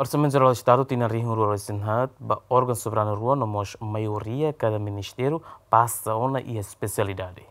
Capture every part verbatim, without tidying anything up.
Orsamentu Jerál Estadu tinan rihun rua resin haat ba órgaun soberanu rua no mós maioria kada ministériu pasa ona iha espesialidade.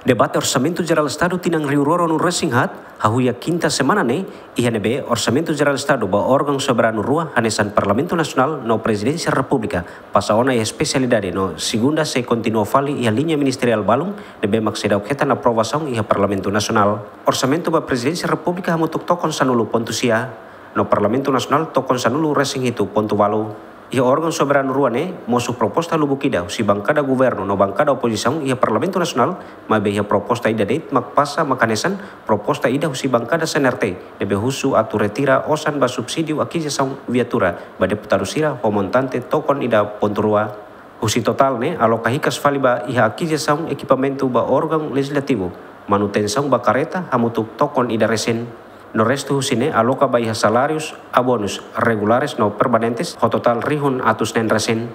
Debate Orsamentu Jerál Estadu tinan rihun rua ruanulu resin haat hahú iha kinta semana ne'e, iha ne'ebé Orsamentu Jerál Estadu ba órgaun soberanu rua hanesan Parlamentu Nasionál no Prezidénsia Repúblika pasa ona iha espesialidade no segunda sei kontinua fali iha liña ministeriál balun ne'ebé mak seidauk hetan aprovasaun iha Parlamentu Nasionál. Orsamentu ba Prezidénsia Repúblika hamutuk tokon sanulu pontu sia, no Parlamentu Nasionál tokon sanulu resin hitu pontu ualu. Iha órgaun soberanu rua ne'e mosu proposta lubuk ida husi bankada governu no bankada opozisaun iha Parlamentu Nasionál, maibé iha proposta ida de'it mak pasa mak hanesan proposta ida husi bankada C N R T ne'ebé husu atu retira osan ba subsídiu akizisaun viatura ba deputadu sira ho montante tokon ida pontu rua. Husi totál ne'e aloka hikas fali ba iha akizisaun ekipamentu ba órgaun lejizlativu, manutensaun ba kareta hamutuk tokon ida resin. No restu husi ne'e aloka ba iha salárius, abonus regulares no permanentes ho totál rihun atus neen resin.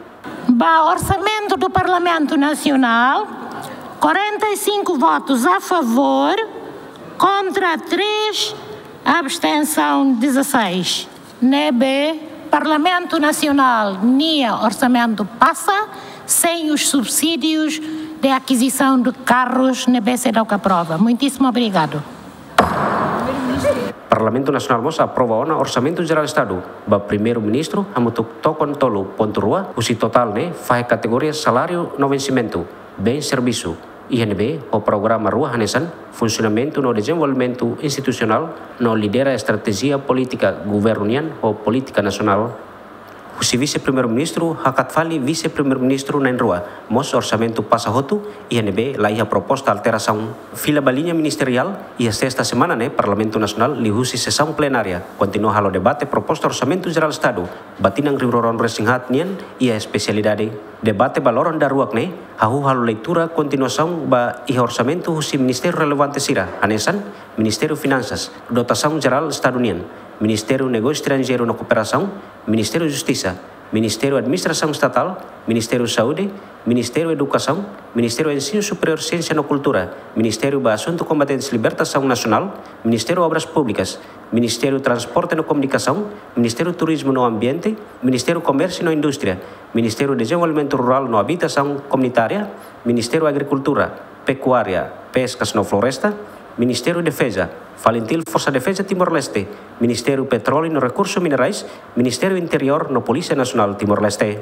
Ba Orçamento do Parlamento Nacional, quarenta e cinco votos a favor, contra três, abstenção dezasseis. Ne'ebé Parlamentu Nasionál nia orsamentu pasa sem os subsídios de aquisição de carros ne'ebé seidauk aprova. Muitíssimo obrigado. Parlamentu Nasionál mós aprova ona Orsamentu Jerál Estadu ba Primeiru-Ministru hamutuk tokon tolu pontu rua, husi totál ne'e fahe kategoria saláriu no vensimentu, bens servisu, iha ne'ebé ho programa rua hanesan funsionamentu no dezenvolvimentu institusionál no lidera estratéjia polítika governu nian ho polítika nasionál. Husi Vise-Primeiru-Ministru hakat fali Vise-Primeiru-Ministru na'in-rua, mós orsamentu pasa hotu, iha ne'ebé la iha proposta alterasaun. Fila ba liña ministeriál, iha sesta semana ne'e Parlamentu Nasionál liuhusi sesaun plenária kontinua halo debate proposta Orsamentu Jerál Estadu ba tinan rihun rua ruanulu resin haat nian iha espesialidade. Debate ba loron daruak ne'e hahú halo leitura kontinuasaun ba iha orsamentu husi ministériu relevante sira hanesan Ministériu Finansas, Dotasaun Jerál Estadu nian, Ministériu Negósiu Estranjeiru no Kooperasaun, Ministériu Justisa, Ministériu Administrasaun Estatál, Ministériu Saúde, Ministériu Edukasaun, Ministériu Ensinu Superiór, Siénsia no Kultura, Ministériu ba Asuntu Kombatentes Libertasaun Nasionál, Ministériu Obras Públikas, Ministériu Transporte no Komunikasaun, Ministériu Turizmu no Ambiente, Ministériu Komérsiu no Indústria, Ministériu Dezenvolvimentu Rurál no Abitasaun Komunitária, Ministériu Agrikultura, Pekuária, Peskas no Floresta, Ministériu Defeza, FALINTIL, Forsa Defeza Timor-Leste, Ministériu Petróleu no Rekursu Minerais, Ministériu Interiór no Polísia Nasionál Timor-Leste.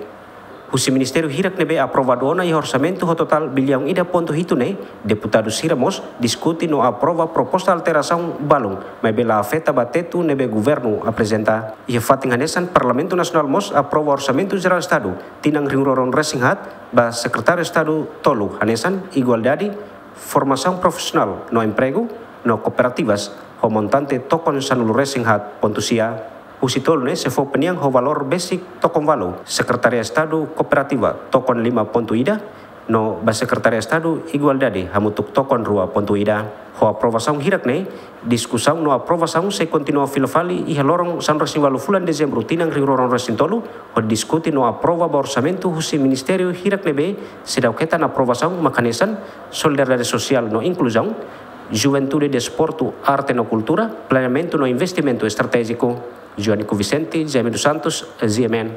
Husi ministériu hirak ne'ebé aprovadu ona iha orsamentu ho totál biliaun ida pontu hitu ne'e, deputadu sira mós diskute no aprova proposta alterasaun balun, maibé la afeta ba tetu ne'ebé governu aprezenta. Iha fatin hanesan, Parlamentu Nasionál mós aprova Orsamentu Jerál Estadu tinan rihun rua ruanulu resin haat ba Sekretáriu Estadu tolu hanesan Igualdade, Formasaun Profisionál no Empregu, no Kooperativas, ho montante tokon sanulu resin haat pontu sia. Husi tolu ne'e sei fó opiniaun ho valór besik tokon ualu, Sekretáriu Estadu Kooperativa tokon lima pontu ida, no ba Sekretáriu Estadu Igualdade hamutuk tokon rua pontu ida. Ho aprovasaun hirak ne'e, diskusaun no aprovasaun sei kontinua fila fali iha loron sanulu resin ualu fulan Dezembru tinan rihun rua ruanulu resin tolu, hodi diskute no aprova ba orsamentu husi ministériu hirak ne'ebé seidauk hetan aprovasaun mak hanesan Solidariedade Sosiál no Inkluzaun, Juventude, Desportu, Arte no Kultura, Planeamentu no Investimentu Estratéjiku. Joanico Vicente, Jaime dos Santos, G M N.